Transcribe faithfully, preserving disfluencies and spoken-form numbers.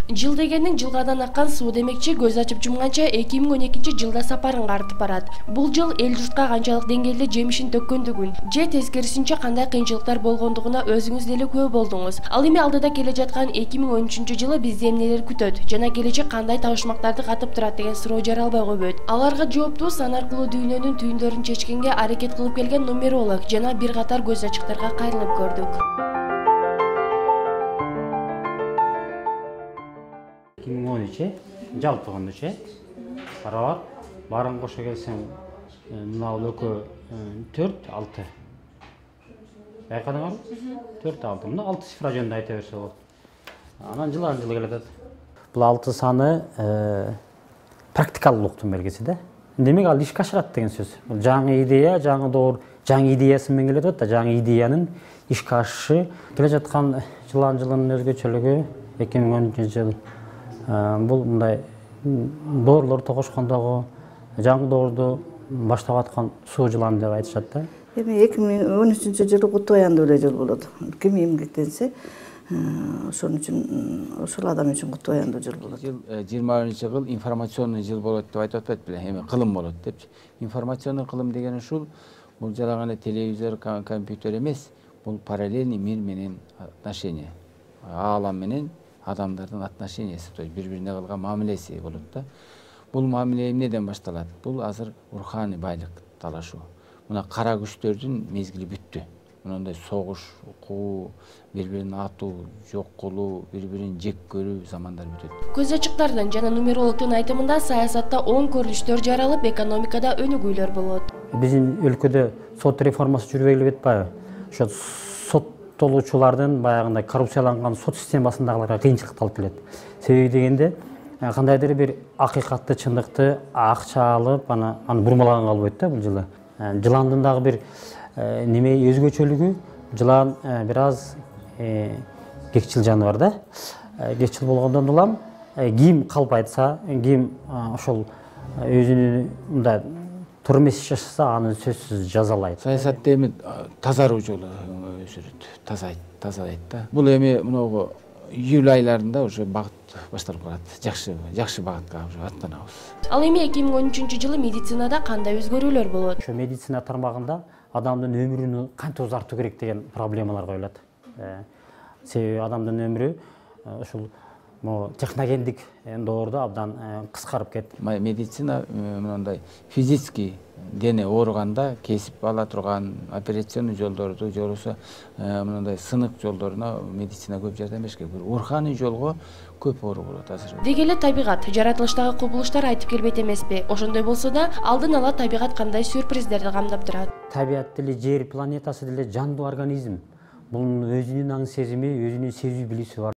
Жыл дегенин жылгадан аккан суу демекчи, көз ачып жумганча эки миң он экинчи жылда сапарын картып барат. Бул жыл эл журтка канчалык деңгээлде жемишин төккөндүгүн же тескерисинче кандай кыйынчылыктар болгондугуна өзүңүз деле күбө болдуңуз. Ал эми алдыда келе жаткан эки миң он үчүнчү жылы бизди эмнелер күтөт жана келечек кандай табышмактарды катып турат деген суроо жаралбай койбойт. Аларга жоопту сан аркылуу дүйнөнүн түйүндөрүн чечкенге аракет кылып келген нумеролог жана бир катар көз ачыктарга кайрылып көрдүк. эки миң он үч жалпы кандайча карап баарын кошо келсең мына бул экөө төрт алты байкадыңарбы? төрт алты мына алты цифра жөнүндө айта берсе болот. Анан жылдан жылы келатат. Бул алты саны практикалуулуктун белгиси да. Демек ал ишке ашырат деген сөз. Бул жаңы идея, жаңы доор, жаңы идеясы менен келет да, жаңы идеянын ишке ашышы. Келе жаткан жылдан жылынын өзгөчөлүгү эки миң он үчүнчү жыл бул мындай доорлор тогошкондогу жаңы доорду баштап аткан суу жыланы деп айтышат да. Эми эки миң он үчүнчү жылы куту аяндуу эле жыл болот. Ким эмгектенсе, ошон үчүн ошол адам үчүн куту аяндуу жыл болот. Жыл жыйырма биринчи жыл информационный жыл болот деп айтып атпайт беле? Эми кылым болот депчи. Информационный кылым деген ушул бул жана гана телевизор, компьютер эмес, бул параллельный мир менен отношения. Аалам менен адамдардын отношениясы, то есть бири-бирине кылган мамилеси болот да. Бул мамиле эмнеден башталат? Бул азыр руханий байлык талашуу. Мына кара күчтөрдүн мезгили бүттү. Мындай согуш, куу, бири-бирин атуу, жок кылуу, бири-бирин жек көрүү замандар бүтөт. Көз ачыктардын жана нумерологдун айтымында саясатта оң көрүнүштөр жаралып, экономикада өнүгүүлөр болот. Биздин өлкөдө сот реформасы жүрбөй эле атпайбы? Ошо соттолуучулардын баягындай коррупцияланган сот системасындагыларга кыйынчылык алып келет. Себеби дегенде кандайдыр бир акыйкатты, чындыкты акча алып, аны аны бурмалаганга болбойт да бул жылы. Жыландын дагы бир неме өзгөчөлүгү, жылан бир аз кекчил жаныбар да. Кекчил болгондон улам ким калп айтса, ким ошол өзүнүн мындай туура эмес иш жасаса, аны сөзсүз жазалайт. Саясатта эми тазаруу жолу өзүрөт, тазайт, тазалайт да. Бул эми мынагу июль айларында уже багыт башталып калат. Жакшы, жакшы багытка уже аттанабыз. Ал эми эки миң он үчүнчү жылы медицинада кандай өзгөрүүлөр болот? Ошо медицина тармагында адамдын өмүрүн кантип узартуу керек деген проблемалар коюлат. Себеби адамдын өмүрү ушул техногендик доордо абдан кыскарып кетти. Медицина мындай физический дене ооруганда кесип ала турган операционный жолдорду, же болбосо мындай сынык жолдоруна медицина көп жардам бериш керек. Руханий жолго көп оору болот азыр. Деги эле табигат, жаратылыштагы кубулуштар айтып келбейт эмеспи? Ошондой болсо да, алдын ала табигат кандай сюрприздерди камдап турат? Табиат деле, жер планетасы деле жандуу организм. Бунун өзүнүн аң сезими, өзүнүн сезүү билүүсү бар.